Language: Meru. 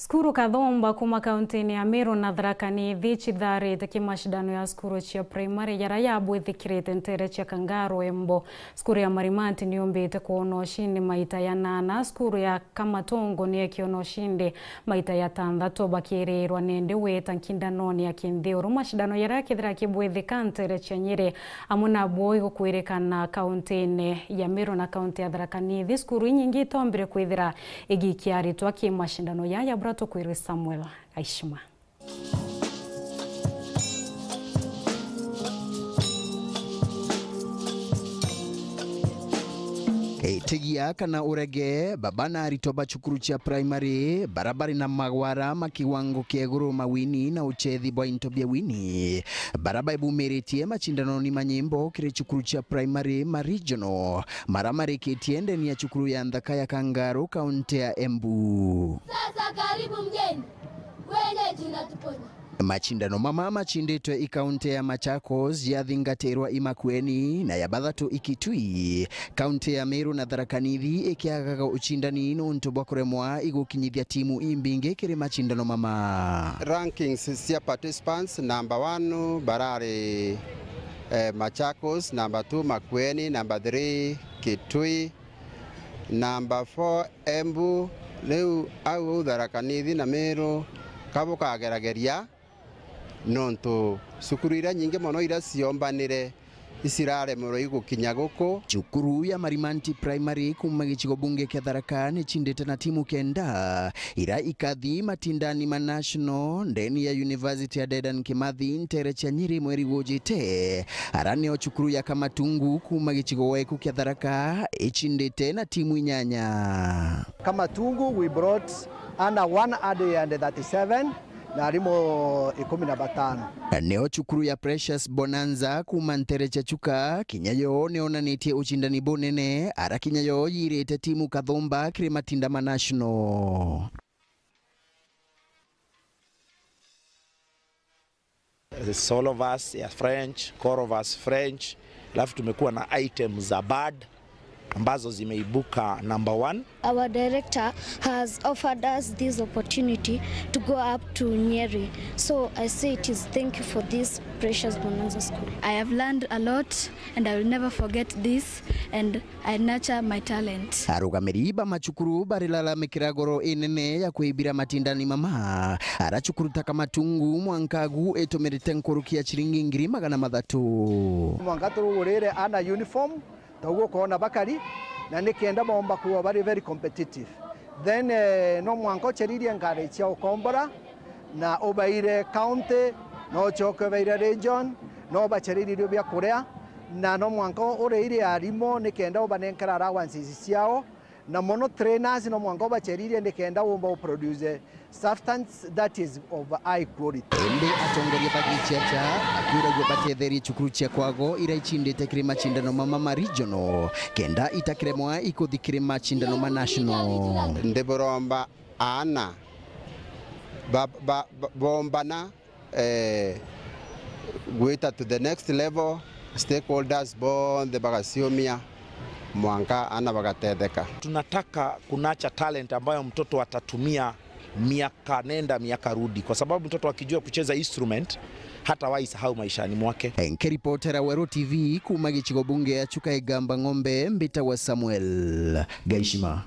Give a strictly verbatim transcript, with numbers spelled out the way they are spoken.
Cukuru kathomba kuma kauntine ya Meru na Tharaka Nithi citharite kimashindano ya cukuru cia primary jaria yabwithikirite ntere cia Kangaru Embu. Cukuru ya Marimanti niyumbite kwona ushindi maita ya nana, cukuru ya Kamatungu niekiona ushindi maita ya tanthatu, bakiirirwa nindi gwita nkindanoni ya kinthi uru mashindano jaria kethira kibwithika ntere cia Nyeri amwe nabo igukwirikana kauntine ya Meru na kaunti ya Tharaka Nithi. Cukuru inyingi itombire kwithira igikia aritwa ki mashindano yaya bura tukwirwe Samuel Aishima. Itigia kana urege, baba na aritwa ba cukuru cia primary bara bari na magwara ma kiwango kia iguru mawini na uchethi bwa into bia wini bara baibumiritie machindanoni ma nyimbo kiri cukuru cia primary ma regional mara marikitie ndeni ya cukuru ya nthaka ya Kangaru, kaunti ya Embu. Sasa karibu mgeni, wenyeji unatuponya. Machindano mama machinditwe i kaunti ya Machakos, yathingatirwa i Makueni na ya bathatu i Kitui. Kaunti ya Meru na Tharaka Nithi ikiagaga uchindani nontu bwa kuremwa igukinyithia timu imbingi kiri machindano mama. Rankings cia participants, number one barari, eh, Machakos, number two Makueni, number three Kitui, number four Embu. Riu au Tharaka Nithi na Meru kabukagerageria, nontu cukuru iria nyingi mono iria ciombanire iciraremerwa igukinya guku. Cukuru ya Marimanti Primary kuma gicigo bunge kia Tharaka nicindite na timu kenda ira ikathi matindani ma national ndeni ya University ya Dedan Kimathi ntere cia Nyeri mweri gujite. Ara nio cukuru ya Kamatungu kuma gicigo weku kia Tharaka icindite na timu inyanya. Kamatungu, we brought under one hundred and thirty-seven na arimu ikumi na batano. Nio cukuru ya Precious Bonanza kuma ntere cia Chuka, kinya yo nionanitie ucindani bunene, ara kinya yo yirite timu kathumba kiri matinda ma national. Solo verse ya French, choral verse French, alafu tumekuwa na items za bad ambazo zimeibuka number one. Our director has offered us this opportunity to go up to Nyeri. So I say it is thank you for this precious Bonanza School. I have learned a lot and I will never forget this and I nurture my talent. Arugamiri ba macukuru barilalamikira goro inene ya kwibira matindani mama ara cukuru ta Kamatungu mwanka agu itumirite nkuruki ya ciringi ngiri magana mathatu. Mwanka turugurire ana uniform, taugu ukoona bakari, na nikenda boomba kuwa bari very competitive. Then, eh, no mwanka uceririe ngari cia ukombora, na ubaire county, no ucoke ubaire region, no ubaceririe irio bia kuria, na no mwanka uriire arimo nikenda ubanenkera allowances ciao, na mono trainers no mwanka ubaceririe nikenda umba uproduce substance that is of high quality. Indi atongoria ba giciaca bakiuragua batetherie cukuru cia kwago ira icindite kiri macindano mama ma regional, kenda itakiremwa ikuthi kiri macindano ma national. Ndiburomba aana ba, ba, ba, bombana, eh, gwita to the next level, stakeholders bonthe bagaciumia mwanka aana bagatetheka. Tunataka kunacha talent ambayo mtoto atatumia miaka nenda miaka rudi, kwa sababu mtoto akijua kucheza instrument hatawahi sahau maishani mwake. Nkiripotera Weru T V kuma gicigo bunge ya Chuka Igamba Ng'ombe, mbitagwa Samuel Gaishima.